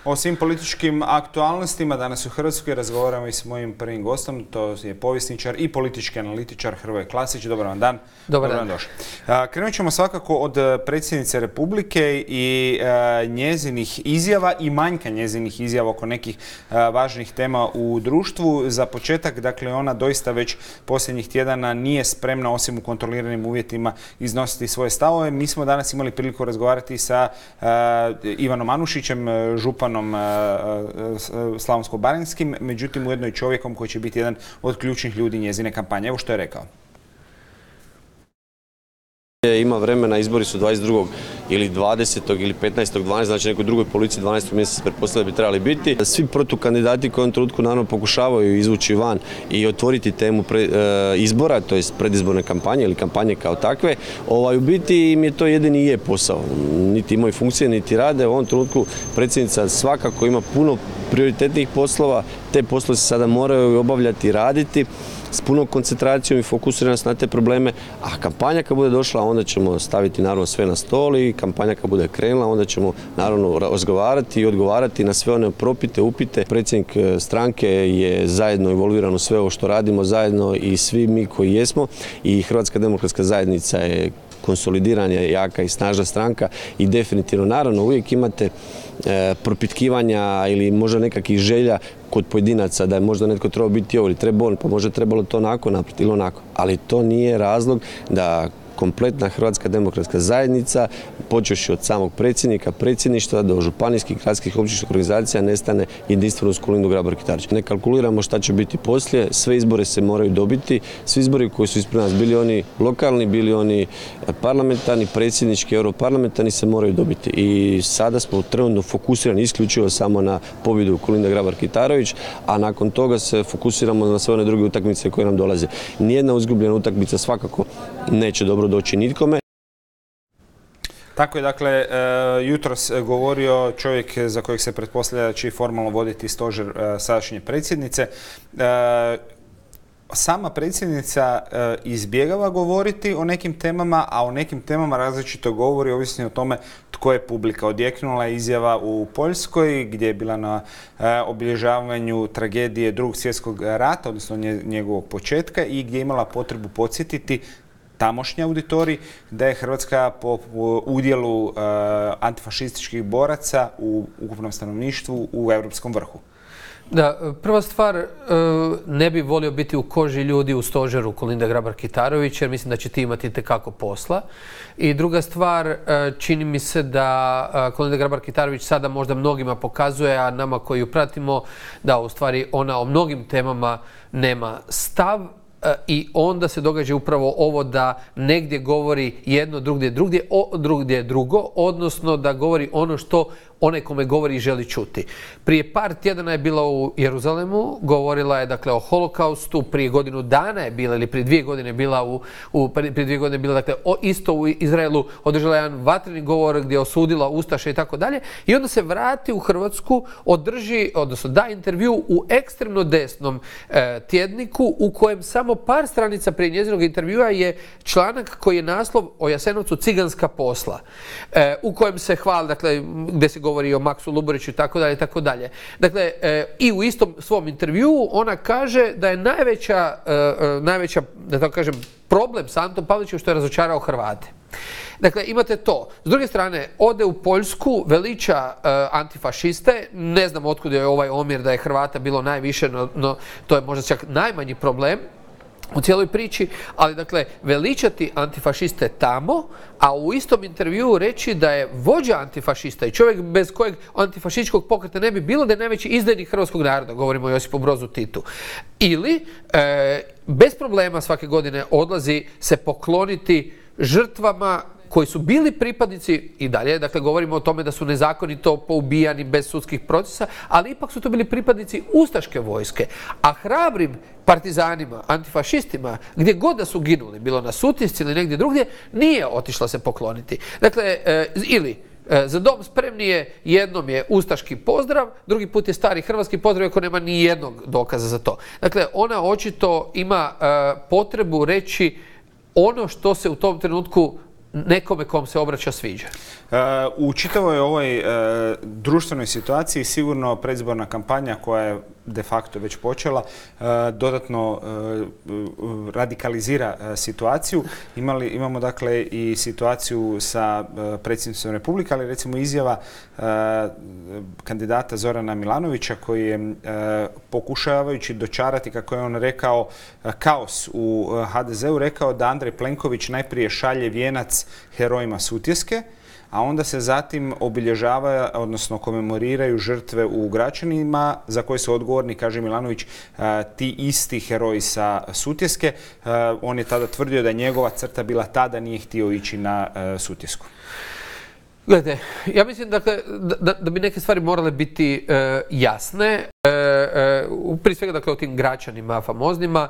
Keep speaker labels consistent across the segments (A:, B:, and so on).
A: O svim političkim aktualnostima danas u Hrvatskoj razgovaramo i s mojim prvim gostom, to je povjesničar i politički analitičar Hrvoje Klasić. Dobar vam dan.
B: Dobar dan.
A: Krenut ćemo svakako od predsjednice Republike i njezinih izjava i manjka njezinih izjava oko nekih važnih tema u društvu. Za početak, dakle, ona doista već posljednjih tjedana nije spremna, osim u kontroliranim uvjetima, iznositi svoje stavove. Mi smo danas imali priliku razgovarati sa Ivanom Anušićem, županom slavonsko-baranjskim, međutim ujedno i čovjekom koji će biti jedan od ključnih ljudi njezine kampanje. Evo što je rekao.
C: Ima vremena, izbori su 22. ili 20. ili 15. 12. znači nekoj drugoj policiji 12. mjeseca pretpostavlja bi trebali biti. Svi protukandidati koji u ovom trenutku naravno pokušavaju izvući van i otvoriti temu izbora, to jest predizborne kampanje ili kampanje kao takve, u biti im je to jedini i je posao. Niti imaju funkcije, niti rade. U ovom trenutku predsjednica svakako ima puno prioritetnih poslova, te poslove se sada moraju obavljati i raditi s punom koncentracijom i fokusiranost na te probleme, a kampanja kad bude došla, onda ćemo staviti naravno sve na stol i kampanja kad bude krenula, onda ćemo naravno razgovarati i odgovarati na sve one propite, upite. Predsjednik stranke je zajedno involviran u sve ovo što radimo zajedno i svi mi koji jesmo, i Hrvatska demokratska zajednica je konsolidirana, jaka i snažna stranka i definitivno, naravno, uvijek imate propitkivanja ili možda nekakvih želja kod pojedinaca da je možda netko trebao biti ovo ili treba on, pa možda trebalo to onako napraviti ili onako. Ali to nije razlog da kompletna Hrvatska demokratska zajednica, počevši od samog predsjednika, predsjedništva do županijskih, gradskih, općinskih organizacija, nestane jedinstveno uz Kolindu Grabar-Kitarović. Ne kalkuliramo šta će biti poslije, sve izbore se moraju dobiti, svi izbori koji su ispred nas, bili oni lokalni, bili oni parlamentarni, predsjednički, europarlamentarni, se moraju dobiti. I sada smo trenutno fokusirani isključivo samo na pobjedu Kolinda Grabar-Kitarović, a nakon toga se fokusiramo na sve one druge utakmice koje nam dolaze. Nijedna izgubljena utakmica svakako neće dobro doći nitkome.
A: Tako je, dakle, jutros govorio čovjek za kojeg se pretpostavlja da će formalno voditi stožer sadašnje predsjednice. Sama predsjednica izbjegava govoriti o nekim temama, a o nekim temama različito govori, ovisno o tome tko je publika. Odjeknula je izjava u Poljskoj gdje je bila na obilježavanju tragedije Drugog svjetskog rata, odnosno njegovog početka, i gdje je imala potrebu podsjetiti tamošnji auditorij da je Hrvatska po udjelu antifašističkih boraca u ukupnom stanovništvu u europskom vrhu.
B: Da, prva stvar, ne bi volio biti u koži ljudi u stožeru Kolinde Grabar-Kitarović, jer mislim da će ti imati itekako posla. I druga stvar, čini mi se da Kolinda Grabar-Kitarović sada možda mnogima pokazuje, a nama koji ju pratimo, da u stvari ona o mnogim temama nema stav. I onda se događa upravo ovo da negdje govori jedno, drugdje drugo, odnosno da govori ono što onaj kome govori želi čuti. Prije par tjedana je bila u Jeruzalemu, govorila je dakle o holokaustu, prije godinu dana je bila ili prije 2 godine bila prije 2 godine bila dakle isto u Izraelu, održala jedan vatreni govor gdje je osudila ustaše i tako dalje, i onda se vrati u Hrvatsku, odnosno da intervju u ekstremno desnom tjedniku u kojem samo par stranica prije njezinog intervjua je članak koji je naslov o Jasenovcu ciganska posla, u kojem se hvali, dakle, gdje se govori o Maksu Luburiću i tako dalje, tako dalje. Dakle, i u istom svom intervjuu ona kaže da je najveća, da tako kažem, problem sa Antom Pavelićem što je razočarao Hrvate. Dakle, imate to. S druge strane, ode u Poljsku, veliča antifašiste, ne znam otkud je ovaj omjer da je Hrvata bilo najviše, no to je možda čak najmanji problem u cijeloj priči, ali dakle veličati antifašiste tamo, a u istom intervjuu reći da je vođa antifašista i čovjek bez kojeg antifašističkog pokreta ne bi bilo, da je najveći izdajnik hrvatskog naroda, govorimo o Josipu Brozu Titu. Ili bez problema svake godine odlazi se pokloniti žrtvama koji su bili pripadnici i dalje, dakle govorimo o tome da su nezakonito poubijani bez sudskih procesa, ali ipak su to bili pripadnici ustaške vojske. A hrabrim partizanima, antifašistima, gdje god da su ginuli, bilo na Sutjesci ili negdje drugdje, nije otišla se pokloniti. Dakle, ili Za dom spremni je, jednom je ustaški pozdrav, drugi put je stari hrvatski pozdrav, ako nema ni jednog dokaza za to. Dakle, ona očito ima potrebu reći ono što se u tom trenutku nekome kom se obraća sviđa.
A: U čitavoj ovoj društvenoj situaciji sigurno predizborna kampanja koja je de facto već počela dodatno radikalizira situaciju. Imamo dakle i situaciju sa predsjednicom Republike, ali recimo izjava kandidata Zorana Milanovića koji je pokušavajući dočarati, kako je on rekao, kaos u HDZ-u, rekao da Andrej Plenković najprije šalje vijenac herojima Sutjeske, a onda se zatim obilježava, odnosno komemoriraju žrtve u Gračanima za koje su odgovorni, kaže Milanović, ti isti heroji sa Sutjeske. On je tada tvrdio da je njegova crta bila ta da nije htio ići na Sutjesku.
B: Gledajte, ja mislim dakle, da bi neke stvari morale biti jasne. Prije svega dakle, o tim Gračanima famoznima.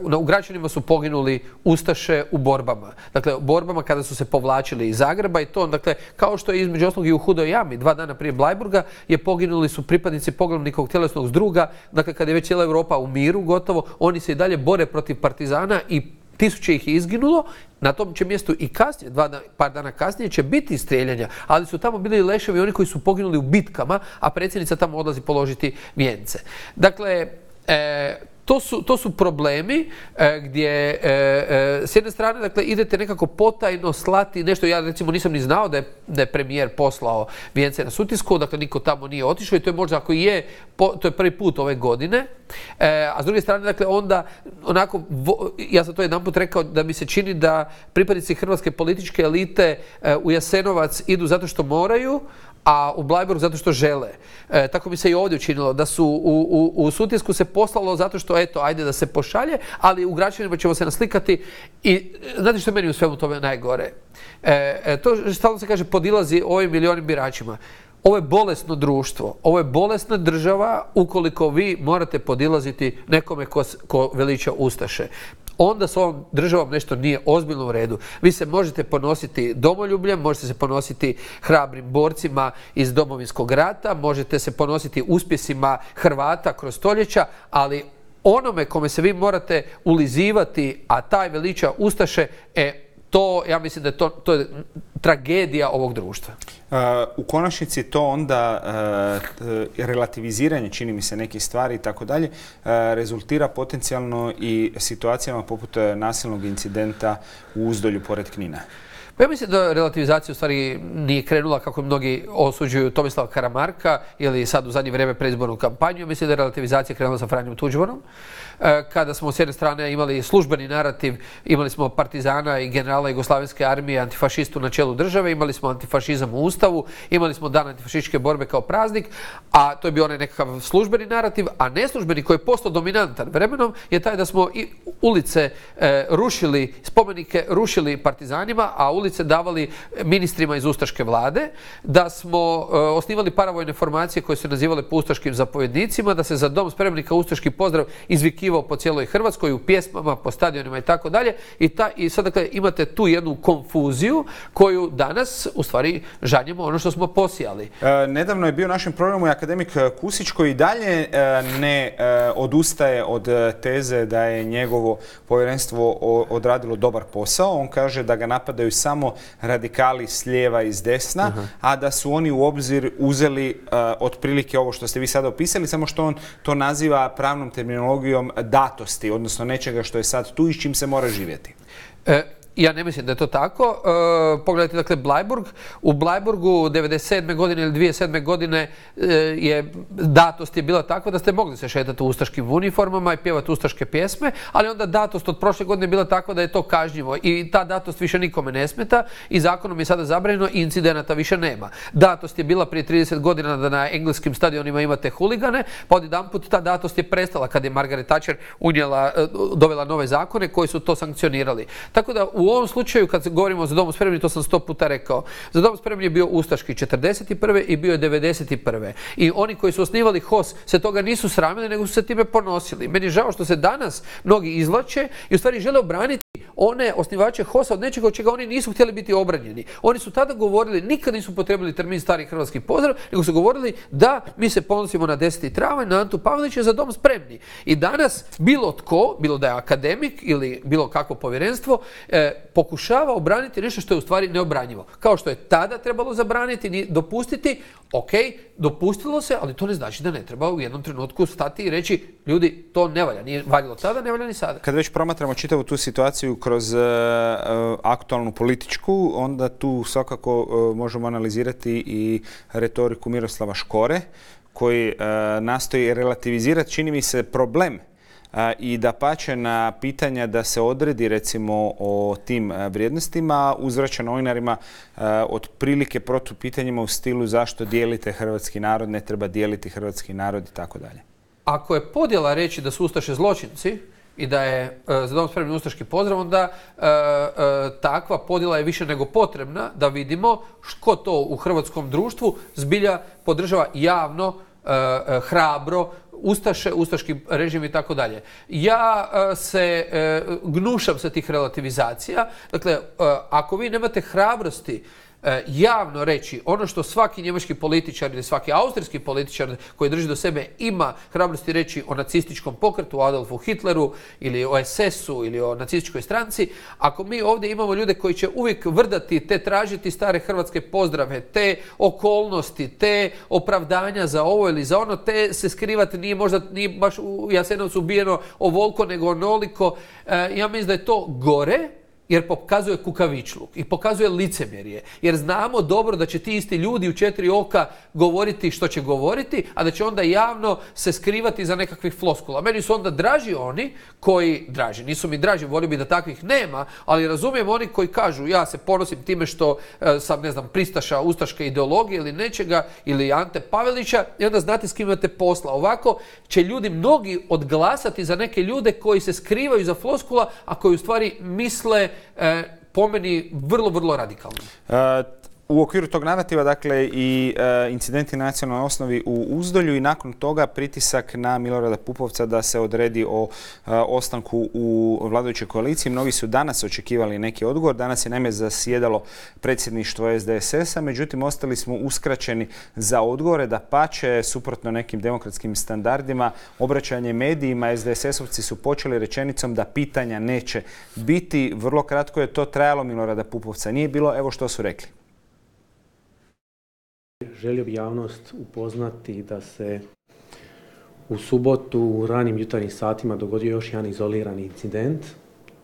B: U Gračanima su poginuli ustaše u borbama. Dakle, u borbama kada su se povlačili iz Zagreba i to, dakle, kao što je između ostalog i u Hudoj jami, 2 dana prije Bleiburga, poginuli su pripadnici poglavnikovog tjelesnog zdruga. Dakle, kada je već cijela Europa u miru gotovo, oni se i dalje bore protiv partizana i tisuće ih je izginulo. Na tom će mjestu i kasnije, par dana kasnije će biti strijeljanja, ali su tamo bili leševi oni koji su poginuli u bitkama, a predsjednica tamo odlazi položiti vijence. Dakle, to su problemi gdje s jedne strane dakle, idete nekako potajno slati nešto. Ja recimo nisam ni znao da je premijer poslao vijence na Sutjesku, dakle niko tamo nije otišao i to je možda ako je, to je prvi put ove godine. A s druge strane, dakle, onda onako, ja sam to jedanput rekao da mi se čini da pripadnici hrvatske političke elite u Jasenovac idu zato što moraju, a u Bleiburg zato što žele. Tako mi se i ovdje učinilo, da su u Sutjesku se poslalo zato što, eto, ajde da se pošalje, ali u Gračanima ćemo se naslikati i znate što je meni u svemu tome najgore? To stalno se kaže podilazi ovim milionim biračima. Ovo je bolesno društvo, ovo je bolesna država ukoliko vi morate podilaziti nekome ko veliča ustaše. Onda s ovom državom nešto nije ozbiljno u redu. Vi se možete ponositi domoljubljem, možete se ponositi hrabrim borcima iz Domovinskog rata, možete se ponositi uspjesima Hrvata kroz stoljeća, ali onome kome se vi morate ulizivati, a taj veliča ustaše, to, ja mislim da je to je tragedija ovog društva.
A: U konačnici to onda relativiziranje, čini mi se, nekih stvari i tako dalje, rezultira potencijalno i situacijama poput nasilnog incidenta u Uzdolju pored Knina.
B: Pa ja mislim da relativizacija u stvari nije krenula kako mnogi osuđuju Tomislava Karamarka ili sad u zadnje vrijeme predizbornu kampanju. Mislim da je relativizacija krenula sa Franjom Tuđmanom. Kada smo s jedne strane imali službeni narativ, imali smo partizana i generala Jugoslavenske armije, antifašistu na čelu države, imali smo antifašizam u Ustavu, imali smo dan antifašističke borbe kao praznik, a to je bio onaj nekakav službeni narativ, a neslužbeni koji je postao dominantan vremenom je taj da smo i ulice rušili, spomenike rušili partizanima, a ulice davali ministrima iz ustaške vlade, da smo osnivali paravojne formacije koje su nazivale po ustaškim zapovjednicima, da se za dom spremnika ustaški pozdrav izvikivao po cijeloj Hrvatskoj, u pjesmama, po stadionima i tako dalje. I sad dakle imate tu jednu konfuziju koju danas u stvari žanjemo ono što smo posijali.
A: Nedavno je bio u našem programu i akademik Kusić koji dalje ne odustaje od teze da je njegovo povjerenstvo odradilo dobar posao. On kaže da ga napadaju samo radikali s lijeva i s desna, a da su oni u obzir uzeli otprilike ovo što ste vi sada opisali, samo što on to naziva pravnom terminologijom datosti, odnosno nečega što je sad tu i s čim se mora živjeti.
B: Ja ne mislim da je to tako. Pogledajte, dakle, Bleiburg. U Bleiburgu 1997. godine ili 2007. godine datost je bila takva da ste mogli se šetati u ustaškim uniformama i pjevati ustaške pjesme, ali onda datost od prošle godine je bila takva da je to kažnjivo i ta datost više nikome ne smeta i zakonom je sada zabranjeno i incidenata više nema. Datost je bila prije 30 godina da na engleskim stadionima imate huligane, pa odjedanput ta datost je prestala kad je Margaret Thatcher dovela nove zakone koji su to sankcionirali. Tako da u ovom slučaju, kad govorimo za Dom spremni, to sam 100 puta rekao, za Dom spremni je bio ustaški 1941. i bio je 1991. I oni koji su osnivali HOS se toga nisu sramili, nego su se time ponosili. Meni je žao što se danas mnogi izvlače i u stvari žele obraniti one osnivače HOS-a od nečega od čega oni nisu htjeli biti obranjeni. Oni su tada govorili, nikad nisu potrebili termin stari hrvatski pozdrav, nego su govorili da mi se ponosimo na 10. travanj, na Antu Pavelića, za dom spremni. I danas bilo tko, bilo da je akademik ili bilo kakvo povjerenstvo, pokušava obraniti nešto što je u stvari neobranjivo. Kao što je tada trebalo zabraniti, dopustiti, ok, dopustilo se, ali to ne znači da ne treba u jednom trenutku stati i reći, ljudi, to ne valja. Nije valjalo tada, ne valja ni sada.
A: Kad već promatramo čitavu tu situaciju kroz aktualnu političku, onda tu svakako možemo analizirati i retoriku Miroslava Škore, koji nastoji relativizirati, čini mi se, problem i dapače na pitanja da se odredi recimo o tim vrijednostima uzvraća novinarima otprilike protupitanjima u stilu zašto dijelite hrvatski narod, ne treba dijeliti hrvatski narod i tako dalje.
B: Ako je podjela reći da su ustaše zločinci i da je za dom spremni ustaški pozdrav, onda takva podjela je više nego potrebna da vidimo ko to u hrvatskom društvu zbilja podržava javno, hrabro, ustaše, ustaški režim i tako dalje. Ja se gnušam sa tih relativizacija. Dakle, ako vi nemate hrabrosti javno reći ono što svaki njemački političar ili svaki austrijski političar koji drži do sebe ima hrabrosti reći o nacističkom pokretu, o Adolfu Hitleru ili o SS-u ili o nacističkoj stranci, ako mi ovdje imamo ljude koji će uvijek vrdati te tražiti stare hrvatske pozdrave, te okolnosti, te opravdanja za ovo ili za ono, te se skrivati nije baš u Jasenovcu ubijeno ovoliko nego onoliko, ja mislim da je to gore, jer pokazuje kukavičluk i pokazuje licemjerje. Jer znamo dobro da će ti isti ljudi u 4 oka govoriti što će govoriti, a da će onda javno se skrivati za nekakvih floskula. Meni su onda draži oni koji, nisu mi draži, volio bi da takvih nema, ali razumijem oni koji kažu ja se ponosim time što sam, ne znam, pristaša ustaške ideologije ili nečega, ili Ante Pavelića, i onda znate s kim imate posla. Ovako će ljudi mnogi odglasati za neke ljude koji se skrivaju za floskula, a koji u stvari misle po meni vrlo, vrlo radikalno.
A: U okviru tog narativa, dakle, i incidenti na nacionalnoj osnovi u Uzdolju i nakon toga pritisak na Milorada Pupovca da se odredi o ostanku u vladajućoj koaliciji. Mnogi su danas očekivali neki odgovor. Danas je naime zasjedalo predsjedništvo SDSS-a, međutim ostali smo uskraćeni za odgovore. Dapače, suprotno nekim demokratskim standardima, obraćanje medijima, SDSS-ovci su počeli rečenicom da pitanja neće biti. Vrlo kratko je to trajalo, Milorada Pupovca nije bilo. Evo što su rekli.
D: Želio bi javnost upoznati da se u subotu u ranim jutarnjim satima dogodio još jedan izolirani incident,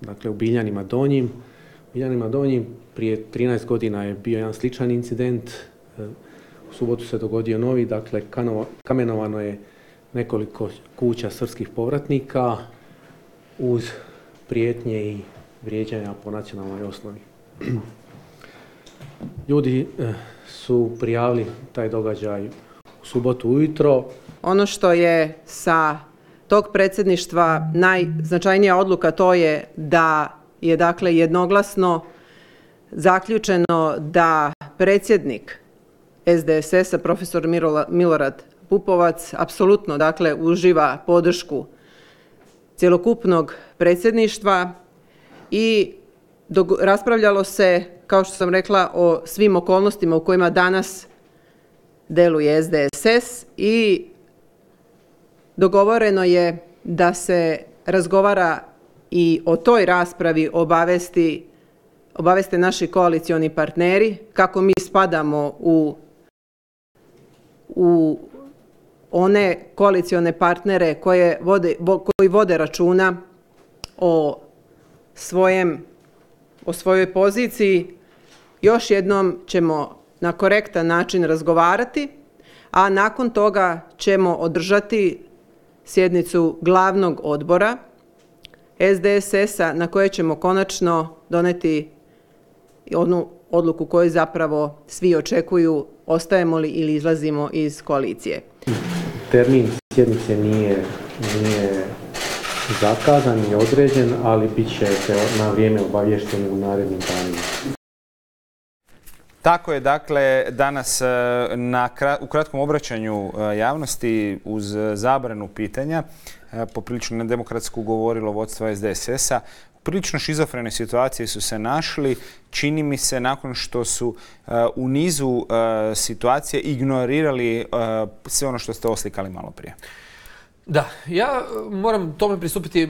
D: dakle u Biljanima Donjim. U Biljanima Donjim prije 13 godina je bio jedan sličan incident, u subotu se dogodio novi, dakle kamenovano je nekoliko kuća srpskih povratnika uz prijetnje i vrijeđanja po nacionalnoj osnovi. Ljudi su prijavili taj događaj u subotu ujutro.
E: Ono što je sa tog predsjedništva najznačajnija odluka, to je da je dakle jednoglasno zaključeno da predsjednik SDSS-a, profesor Milorad Pupovac, apsolutno dakle uživa podršku cjelokupnog predsjedništva i raspravljalo se, kao što sam rekla, o svim okolnostima u kojima danas deluje SDSS i dogovoreno je da se razgovara i o toj raspravi obaveste naši koalicioni partneri, kako mi spadamo u one koalicione partnere koji vode računa o svojoj poziciji. Još jednom ćemo na korektan način razgovarati, a nakon toga ćemo održati sjednicu glavnog odbora SDSS-a na kojoj ćemo konačno doneti onu odluku koju zapravo svi očekuju, ostajemo li ili izlazimo iz koalicije.
D: Termin sjednice nije zakazan i određen, ali bit će na vrijeme obavješteni u narednim danima.
A: Tako je, dakle, danas u kratkom obraćanju javnosti uz zabranu pitanja poprilično nedemokratsko govorilo vodstvo SDSS-a, prilično šizofrene situacije su se našli, čini mi se, nakon što su u nizu situacije ignorirali sve ono što ste oslikali malo prije.
B: Da, ja moram tome pristupiti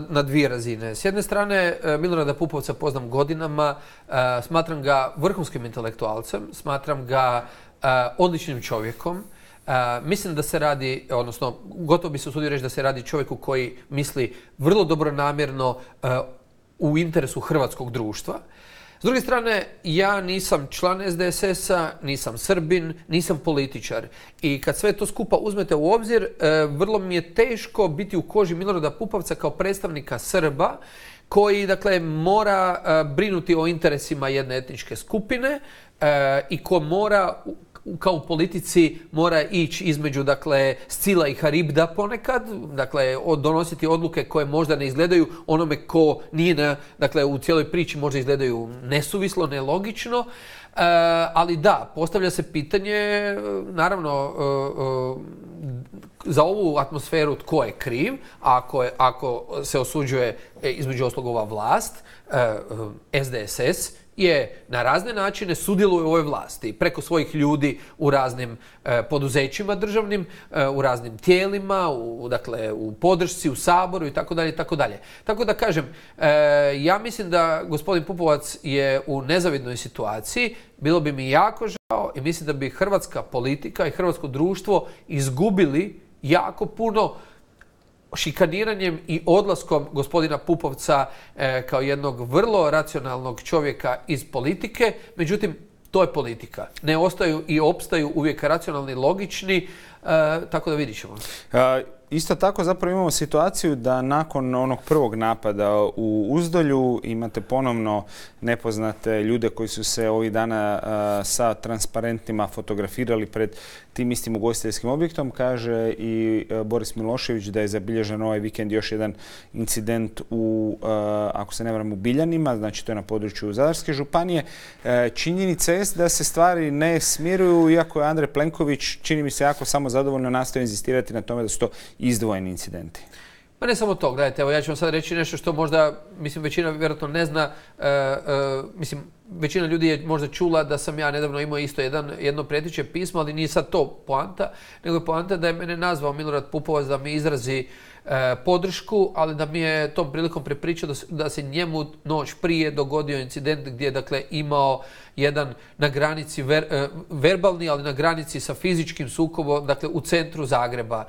B: na dvije razine. S jedne strane, Milorada Pupovca poznam godinama, smatram ga vrhunskim intelektualcem, smatram ga odličnim čovjekom. Mislim da se radi, odnosno gotovo bi se usudio reći da se radi čovjeku koji misli vrlo dobronamjerno u interesu hrvatskog društva. S druge strane, ja nisam član SDSS-a, nisam Srbin, nisam političar. I kad sve to skupa uzmete u obzir, vrlo mi je teško biti u koži Milorada Pupovca kao predstavnika Srba, koji, dakle, mora brinuti o interesima jedne etničke skupine i ko mora, kao u politici, mora ići između, dakle, Scila i Haribda ponekad, dakle, donositi odluke koje možda ne izgledaju onome ko nije, dakle, u cijeloj priči možda izgledaju nesuvislo, nelogično, ali da, postavlja se pitanje, naravno, za ovu atmosferu tko je kriv, ako se osuđuje između ostalog ova vlast, SDSS je na razne načine sudjeluje u ovoj vlasti preko svojih ljudi u raznim poduzećima državnim, u raznim tijelima, dakle u podršci, u Saboru i tako dalje i tako dalje. Tako da kažem, ja mislim da gospodin Pupovac je u nezavidnoj situaciji. Bilo bi mi jako žao i mislim da bi hrvatska politika i hrvatsko društvo izgubili jako puno šikaniranjem i odlaskom gospodina Pupovca kao jednog vrlo racionalnog čovjeka iz politike. Međutim, to je politika. Ne ostaju i opstaju uvijek racionalni, logični, tako da vidit ćemo.
A: Isto tako zapravo imamo situaciju da nakon onog prvog napada u Uzdolju imate ponovno nepoznate ljude koji su se ovih dana sa transparentima fotografirali pred tim istim ugostiteljskim objektom. Kaže i Boris Milošević da je zabilježen ovaj vikend još jedan incident ako se ne varam, u Biljanima, znači to je na području Zadarske županije. Činjenica je da se stvari ne smiruju, iako je Andrej Plenković, čini mi se, jako samozadovoljno nastoji inzistirati na tome da su to izdvojeni incidenti.
B: Pa ne samo to, gledajte, evo ja ću vam sad reći nešto što možda, mislim, većina vjerojatno ne zna, mislim, većina ljudi je možda čula da sam ja nedavno imao isto jedno prijeteće pismo, ali nije sad to poanta, nego je poanta da je mene nazvao Milorad Pupovac da mi izrazi podršku, ali da mi je tom prilikom prepričao da se njemu noć prije dogodio incident gdje je, dakle, imao jedan na granici verbalni, ali na granici sa fizičkim sukobom, dakle, u centru Zagreba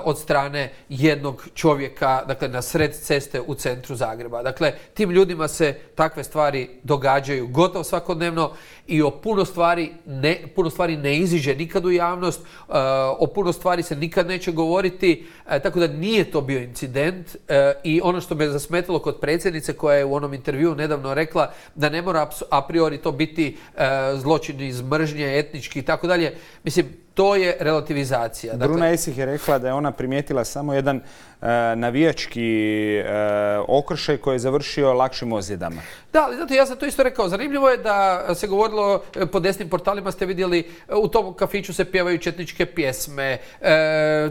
B: od strane jednog čovjeka, dakle, na sred ceste u centru Zagreba. Dakle, tim ljudima se takve stvari događaju gotovo svakodnevno i o puno stvari ne iziđe nikad u javnost, o puno stvari se nikad neće govoriti, tako da nije to bio incident. I ono što me zasmetalo kod predsjednice koja je u onom intervjuu nedavno rekla da ne mora a priori to biti zločin iz mržnje, etnički i tako dalje. Mislim, to je relativizacija.
A: Bruna Esih je rekla da je ona primijetila samo jedan navijački okršaj koji je završio lakšim ozljedama.
B: Da, ali znate, ja sam to isto rekao. Zanimljivo je da se govorilo, po desnim portalima ste vidjeli, u tom kafiću se pjevaju četničke pjesme,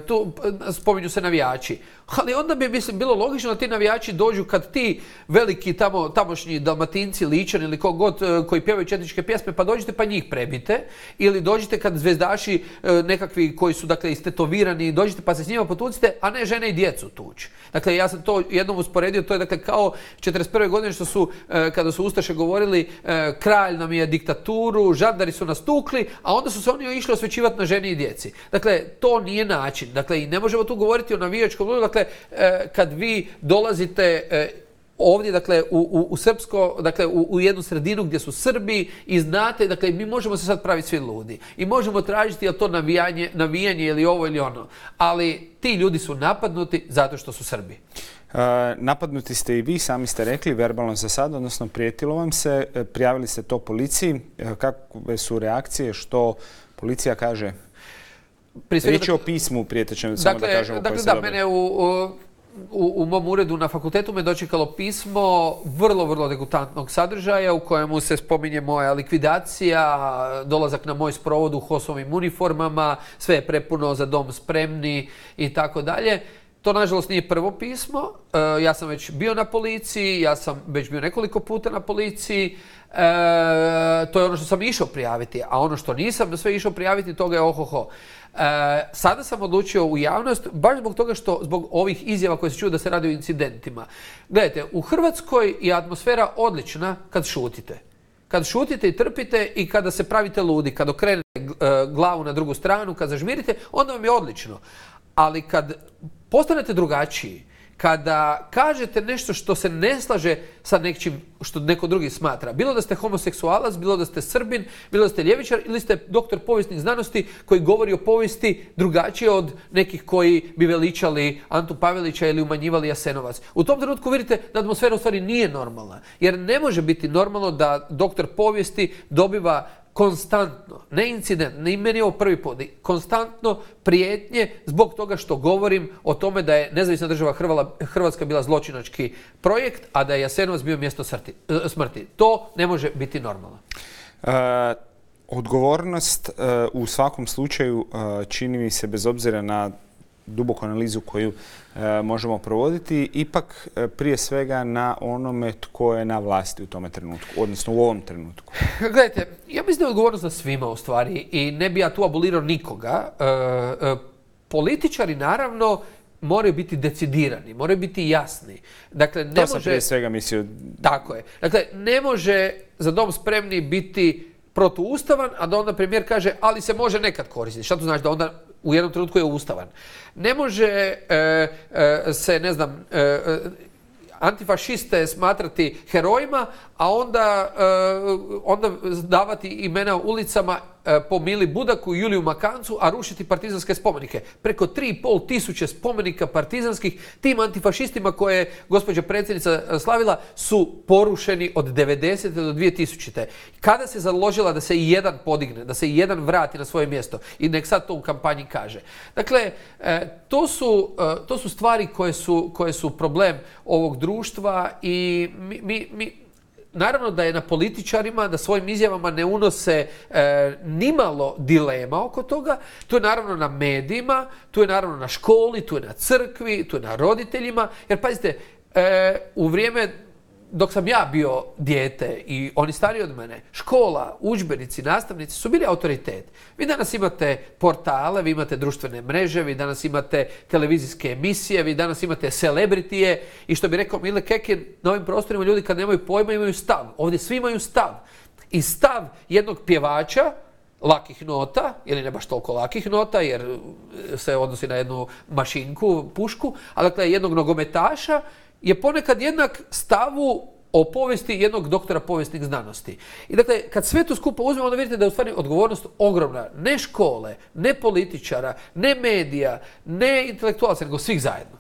B: tu spominju se navijači. Ali onda bi, mislim, bilo logično da ti navijači dođu kad ti veliki tamošnji Dalmatinci, Ličani ili kogod koji pjevaju četničke pjesme, pa dođite pa njih prebite. Ili dođite kad zvezdaši nekakvi koji su, dakle, istetovirani, dođite pa se s njima potucite, a ne žene i djecu tući. Dakle, ja sam to jednom usporedio, to je, dakle, kao 1941. godine što su, kada su ustaše govorili kralj nam je diktaturu, žandari su nas tukli, a onda su se oni išli osvećivati na ženi i djeci. Dakle, to nije način. Dakle, i ne možemo tu govoriti o navijačkom ludu. Dakle, kad vi dolazite ovdje, dakle, u srpsko, dakle, u jednu sredinu gdje su Srbi i znate, dakle, mi možemo se sad praviti svi ludi i možemo tražiti je li to navijanje ili ovo ili ono, ali ti ljudi su napadnuti zato što su Srbi.
A: Napadnuti ste i vi, sami ste rekli, verbalno za sad, odnosno prijetilo vam se, prijavili ste to policiji. Kakve su reakcije, što policija kaže? Riječ je o pismu prijetećem, samo da kažemo koje se
B: dobije. Dakle, mene u mom uredu na fakultetu me dočekalo pismo vrlo, vrlo degutantnog sadržaja u kojemu se spominje moja likvidacija, dolazak na moj sprovod u HOS-ovim uniformama, sve je prepuno Za dom spremni i tako dalje. To, nažalost, nije prvo pismo. Ja sam već bio na policiji, ja sam već bio nekoliko puta na policiji. To je ono što sam išao prijaviti, a ono što nisam sve išao prijaviti, toga je ohoho. Sada sam odlučio u javnost, baš zbog toga što, zbog ovih izjava koje se čuju da se radi o incidentima. Gledajte, u Hrvatskoj je atmosfera odlična kad šutite. Kad šutite i trpite i kada se pravite ludi, kad okrenete glavu na drugu stranu, kad zažmirite, onda vam je odlično. Ali kad postanete drugačiji, kada kažete nešto što se ne slaže sa nečim što neko drugi smatra, bilo da ste homoseksualac, bilo da ste Srbin, bilo da ste ljevičar ili ste doktor povijesnih znanosti koji govori o povijesti drugačije od nekih koji bi veličali Antu Pavelića ili umanjivali Jasenovac. U tom trenutku vidite da atmosfera u stvari nije normalna. Jer ne može biti normalno da doktor povijesti dobiva konstantno, ne incident, ne meni ovo prvi put, konstantno prijetnje zbog toga što govorim o tome da je nezavisna država Hrvatska bila zločinački projekt, a da je Jasenovac bio mjesto smrti. To ne može biti normalno.
A: Odgovornost u svakom slučaju čini mi se, bez obzira na duboku analizu koju možemo provoditi, ipak prije svega na onome tko je na vlasti u tome trenutku, odnosno u ovom trenutku.
B: Gledajte, ja mislim da je odgovornost na svima u stvari i ne bi ja tu abolirao nikoga. Političari naravno moraju biti decidirani, moraju biti jasni. Dakle, ne
A: to sam prije svega mislio.
B: Tako je. Dakle, ne može Za dom spremni biti protuustavan, a da onda premijer kaže ali se može nekad koristiti. Šta to znači? Da onda u jednom trenutku je ustavan. Ne može se, ne znam, antifašiste smatrati herojima, a onda davati imena ulicama po Mili Budaku i Juliju Makancu, a rušiti partizanske spomenike. Preko 3.500 spomenika partizanskih tim antifašistima koje je gospođa predsjednica slavila su porušeni od 90. do 2000. Kada se založila da se i jedan podigne, da se i jedan vrati na svoje mjesto i nek sad to u kampanji kaže. Dakle, to su stvari koje su problem ovog društva i naravno da je na političarima da svojim izjavama ne unose nimalo dilema oko toga. Tu je naravno na medijima, tu je naravno na školi, tu je na crkvi, tu je na roditeljima. Jer pazite, u vrijeme dok sam ja bio dijete i oni stariji od mene, škola, udžbenici, nastavnici su bili autoritet. Vi danas imate portale, vi imate društvene mreže, vi danas imate televizijske emisije, vi danas imate celebritije i što bi rekao Mile Kekin, na ovim prostorima ljudi kad nemaju pojma imaju stav. Ovdje svi imaju stav. I stav jednog pjevača lakih nota, ili ne baš toliko lakih nota, jer se odnosi na jednu mašinku, pušku, ali dakle jednog nogometaša je ponekad jednak stavu o povijesti jednog doktora povijesnih znanosti. I dakle, kad sve to skupo uzmemo, onda vidite da je u stvari odgovornost ogromna. Ne škole, ne političara, ne medija, ne intelektualaca, nego svih zajedno.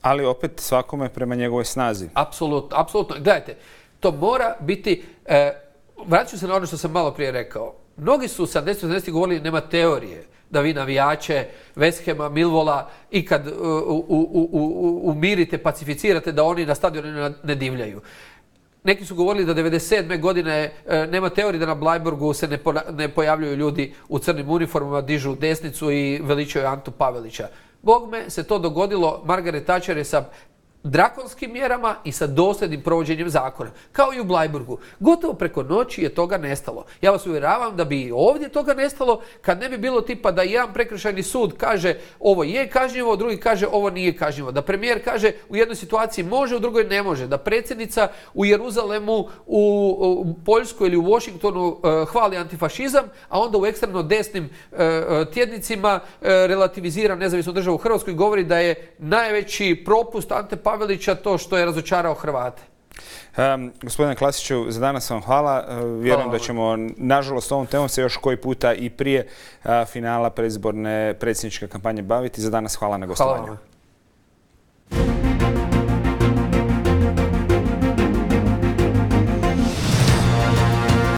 A: Ali opet svakome prema njegovoj snazi.
B: Apsolutno, apsolutno. Gledajte, to mora biti... vratit ću se na ono što sam malo prije rekao. Mnogi su 70. govorili nema teorije da vi navijače West Hama, Millwalla ikad umirite, pacificirate da oni na stadionu ne divljaju. Neki su govorili da 1997. godine nema teorije da na Bleiburgu se ne pojavljuju ljudi u crnim uniformama, dižu desnicu i veličaju Antu Pavelića. Bogme se to dogodilo, Margaret Thatcher je sa drakonskim mjerama i sa dosljednim provođenjem zakona. Kao i u Bleiburgu. Gotovo preko noći je toga nestalo. Ja vas uvjeravam da bi i ovdje toga nestalo kad ne bi bilo tipa da jedan prekršajni sud kaže ovo je kažnjivo, drugi kaže ovo nije kažnjivo. Da premijer kaže u jednoj situaciji može, u drugoj ne može. Da predsjednica u Jeruzalemu, u Poljskoj ili u Washingtonu hvali antifašizam, a onda u ekstremno desnim tjednicima relativizira nezavisnu državu Hrvatsku i govori da je najveći propust Ante Pavelića to što je razočarao Hrvate.
A: Gospodine Klasiću, za danas vam hvala. Vjerujem da ćemo, nažalost, ovom temom se još koji puta i prije finala predizborne predsjedničke kampanje baviti. Za danas hvala na gostovanju.